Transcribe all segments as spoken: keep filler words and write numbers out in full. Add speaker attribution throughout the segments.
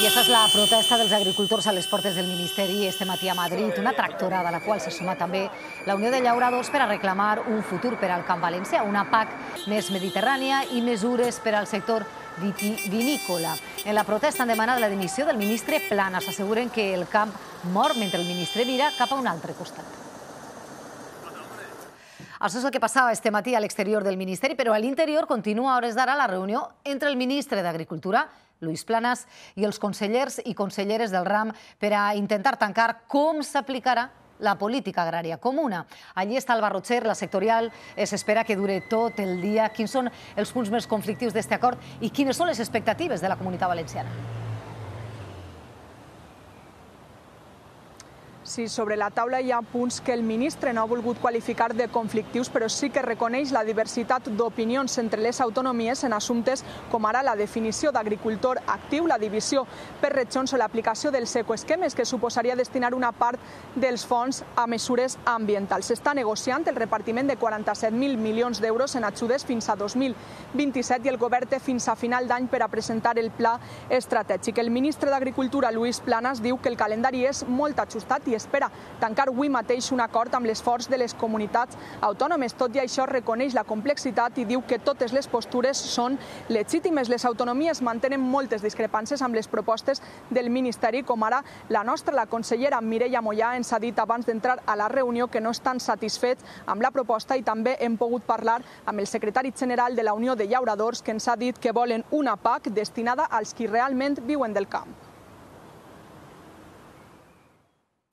Speaker 1: aquesta és la protesta dels agricultors a les portes del Ministeri este matí a Madrid, una tractorada a la qual se suma també la Unió de Llauradors per a reclamar un futur per al camp valencià, una P A C més mediterrània i mesures per al sector vitivinícola. En la protesta han demanat la dimissió del ministre Planas. Asseguren que el camp mor mentre el ministre mira cap a un altre costat. Això és el que passava este matí a l'exterior del Ministeri, però a l'interior continua a hores d'ara la reunió entre el ministre d'Agricultura, Luis Planas, i els consellers i conselleres del ram per a intentar tancar com s'aplicarà la política agrària comuna. Allí està Alba Rotxer, la sectorial, s'espera que dure tot el dia. Quins són els punts més conflictius d'aquest acord i quines són les expectatives de la Comunitat Valenciana?
Speaker 2: Sí, sobre la taula hi ha punts que el ministre no ha volgut qualificar de conflictius, però sí que reconeix la diversitat d'opinions entre les autonomies en assumptes com ara la definició d'agricultor actiu, la divisió per regions o l'aplicació dels ecoesquemes, que suposaria destinar una part dels fons a mesures ambientals. S'està negociant el repartiment de quaranta-set mil milions d'euros en ajudes fins a dos mil vint-i-set i el govern té fins a final d'any per a presentar el pla estratègic. El ministre d'Agricultura, Luis Planas, diu que el calendari és molt ajustat i espera tancar avui mateix un acord amb l'esforç de les comunitats autònomes. Tot i això, reconeix la complexitat i diu que totes les postures són legítimes. Les autonomies mantenen moltes discrepàncies amb les propostes del Ministeri, com ara la nostra. La consellera Mireia Mollà ens ha dit abans d'entrar a la reunió que no estan satisfets amb la proposta i també hem pogut parlar amb el secretari general de la Unió de Llauradors, que ens ha dit que volen una P A C destinada als qui realment viuen del camp.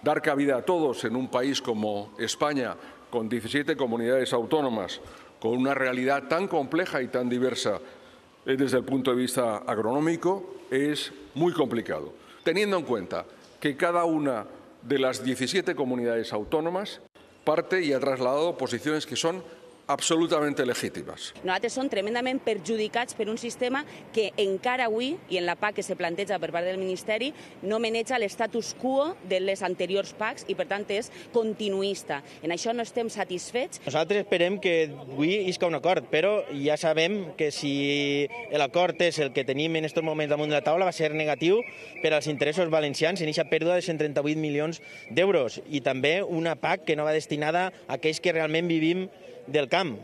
Speaker 3: Dar cabida a todos en un país como España, con diecisiete comunidades autónomas, con una realidad tan compleja y tan diversa desde el punto de vista agronómico, es muy complicado. Teniendo en cuenta que cada una de las diecisiete comunidades autónomas parte y ha trasladado posiciones que son absolutamente legítimes.
Speaker 4: Nosaltres som tremendament perjudicats per un sistema que encara avui, i en la P A C que se planteja per part del Ministeri, no maneja l'estatus quo de les anteriors P A Cs i, per tant, és continuista. En això no estem satisfets.
Speaker 5: Nosaltres esperem que avui isca un acord, però ja sabem que si l'acord és el que tenim en aquests moments damunt de la taula va ser negatiu per als interessos valencians en aquesta pèrdua de cent trenta-vuit milions d'euros i també una P A C que no va destinada a aquells que realment vivim del camp.